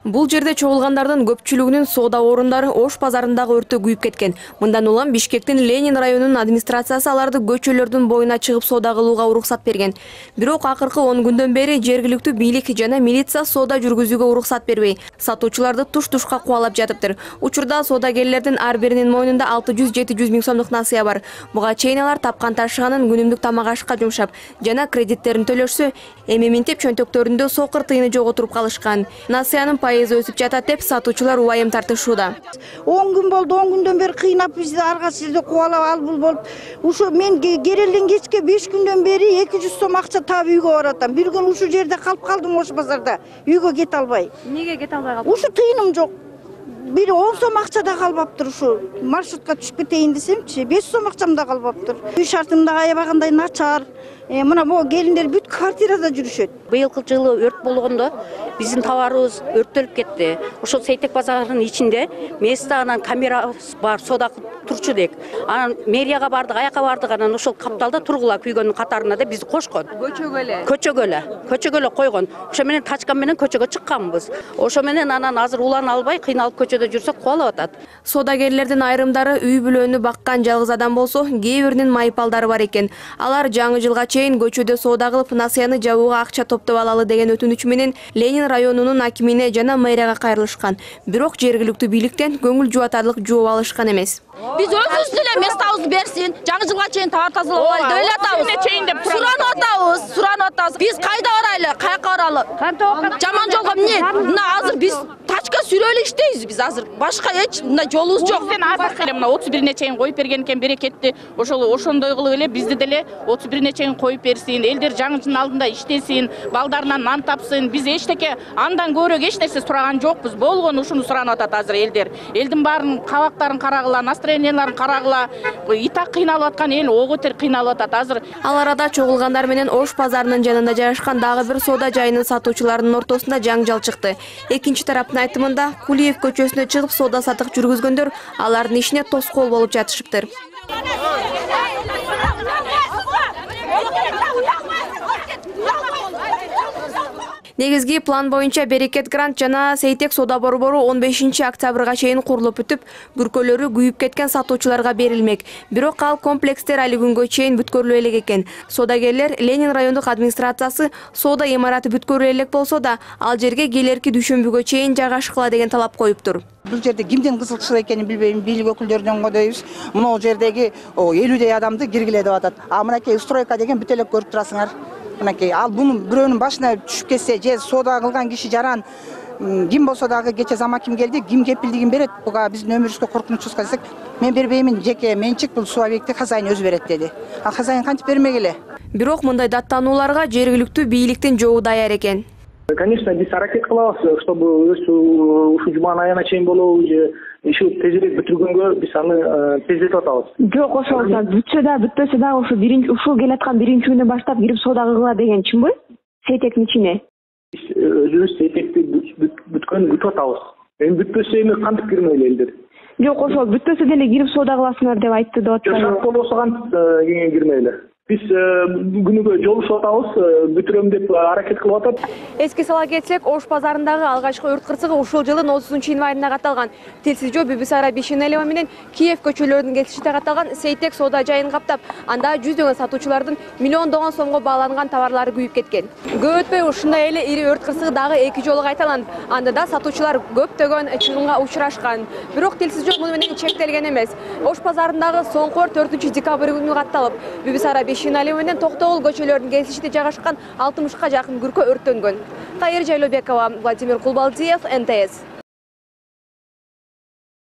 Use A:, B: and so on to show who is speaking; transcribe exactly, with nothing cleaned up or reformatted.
A: Бул жерде чогулгандардын көпчүлүгүнүн соода орундары Ош базарындагы өрттө күйүп кеткен. Мындан улам Бишкектин Ленин районунун администрациясы аларды көчөлөрдүн боюна чыгып соода кылууга уруксат берген. Бирок акыркы он күндөн бери жергиликтүү бийлик жана милиция соода жүргүзүүгө уруксат бербей, сатуучуларды туш-тушка кубалап жатыптыр. Учурда соодагерлердин ар биринин мойнунда алты жүз жети жүз миң сомдук насыя бар. Буга чейин алар тапкан ташыганын күнүмдүк тамак ашка жумшап жана кредиттерин төлөшсө, эми минтеп чөнтөктөрүндө сокур тыйыны жок отуруп калышкан. Насыянын пайызы өсүп жатат деп сатуучулар убайым тартышууда.
B: он күн болду, он күндөн бери кыйнап бизди арга сизди кубалап ал бул болуп. Ушу мен Керелден кечке беш күндөн бери эки жүз сом акча таап үйгө баратам. Бир күн ушул жерде калып калдым Ош базарда. Үйгө кете албай.
A: Эмнеге кете албай калдың?
B: Ушу тыйыным жок. Бир он сом акча да калбаптыр ушу. Маршрутка түшүп кетейин десемчи, беш сом акчам да калбаптыр. Үй шартым да аябагандай начар. Э, мына могу келиндер бүт квартирада жүрүшөт.
C: Быйылкы жылы өрт болгондо биздин товарыбыз өрттөлүп кетти. Ошол Сейтек базарынын ичинде место анан камера бар, соода турчу дек. Анан мэрияга бардык, аяка бардык, анан ошол капталда тургула күйгөндүн катарына да бизди кошкон.
A: Көчөгө эле.
C: Көчөгө эле. Көчөгө эле койгон. Ошо менен тачкан менен көчөгө чыкканбыз. Ошо менен анан азыр улана албай кыйналып көчөдө жүрсөк кубалап атат.
A: Соодагерлердин айрымдары үй бүлөнү баккан жалгыз адам болсо, кээ биринин майыпалдары бар экен. Алар жаңы жылга чейин көчөдө соода кылып, насыяны жабууга акча топтоп алалы деген өтүнүч менен Ленин районунун акимине жана мэрияга кайрылышкан. Бирок жергиликтүү бийликтен көңүл жубатарлык жооп алышкан эмес.
D: Биз өзүбүз деле местабызды берсин, жаңы жылга чейин товар тазалап алайлы деп эле атабыз. Суранып атабыз, суранып атабыз. Биз кайда барайлы, каяка баралы? Жаман жолго эмне? Мына азыр биз тачка сүрөлү иштейбиз биз азыр. Башка эч мындай жолубуз жок.
E: Сен азыр эле мына отуз бирине чейин коюп берген экен, берекетти. Ошол ошондой кылып эле бизди деле отуз бирине чейин коюп берсин. Элдер жаңы жылдын алдында иштесин, балдарынан нан тапсын. Биз эчтеке андан көбүрөөк эч нерсе сураган жокпуз. Болгону ушуну суранып атат азыр элдер. Элдин баарынын кабактарын карагыла, настроенияларын карагыла. Итак кыйналып аткан эл оготер кыйналып атат азыр.
A: Ал арада чогулгандар менен Ош базарынын жанында жайгашкан дагы бир соода жайынын сатуучуларынын ортосунда жаңжал чыкты. Экинчи тараптын айтымында Кулиев көчөсүнө чыгып соода сатык жүргүзгөндөр алардын ишине тоскоол болуп жатышыптыр. Негизги план боюнча Берекет Грант жана Сейтек соода борбору он бешинчи октябрга чейин курулуп бүтүп, бүркөлөрү күйүп кеткен сатуучуларга берилмек. Бирок ал комплекстер али күнгө чейин бүткөрүлө элек экен. Соодагерлер Ленин райондук администрациясы соода имараты бүткөрүлө элек болсо да, ал жерге келерки дүйшөмбүгө чейин жайгашкыла деген талап коюптур.
B: Бул жерде кимдин кызыкчылыгы экенин билбейм, бийлик өкүлдөрүнөн койбойбуз. Мына жердеги элүүдөй адамды киргиле деп атат. А мынакей стройка деген бүт эле көрүп турасыңар. Мынакей ал бунун бирөөнүн башына түшүп кетсе, же соода кылган киши жаран ким болсо дагы кече зама ким келди, ким кепилдигин берет. Буга биздин өмүрүбүзгө коркунучубузга десек, мен бербеймин, жеке менчик, бул суу объекти хозяин өзү берет деди. А хозяин кантип бермегиле?
A: Бирок мындай даттанууларга жергиликтүү бийликтин жообу даяр экен.
F: Конечно, биз аракет кылабыз, чтобы ушу жуманын аягына чейин болобу, же иши тезирээк бүтүргөнгө биз аны тездетип атабыз.
G: Жок, ошол бүтсө да, бүтпөсө да ушу биринчи ушул келаткан биринчи күндөн баштап кирип соода кылгыла деген чынбы? Сейтектин ичине.
F: Биз өзүбүз Сейтекти бүткөн бүтүп атабыз. Эми бүтпөсө эми кантип кирмейли элдер?
G: Жок, ошол бүтпөсө деле кирип соода кыласыңар деп айтты деп атпайбы?
F: Шарт болбосо кантип кирмейли? Биз күнүгө жолугушуп атабыз, бүтүрөм деп аракет кылып атат.
A: Эске сала кетсек, Ош базарындагы алгачкы өрт кырсыгы ушул жылдын отузунчу январына катталган. Тилсиз жөө Бибисара Бишенелева менен Киев көчөлөрүнүн кесишинде катталган Сейтек соода жайын каптап, анда жүздөгөн сатуучулардын миллиондогон сомго бааланган товарлары күйүп кеткен. Көп өтпөй ушундай эле ири өрт кырсыгы дагы эки жолу кайталанып, анда да сатуучулар көптөгөн чыгымга учурашкан. Бирок Тилсиз жөө муну менен чектелген эмес. Ош базарындагы соңку өрт төртүнчү декабрь күнү катталып, Бибисара Бишенелева менен Токтогул көчөлөрүнүн кесишинде жайгашкан алтымышка жакын күркө өрттөнгөн. Кайыр Жайлообекова, Владимир Кулбалдиев, эн тэ эс.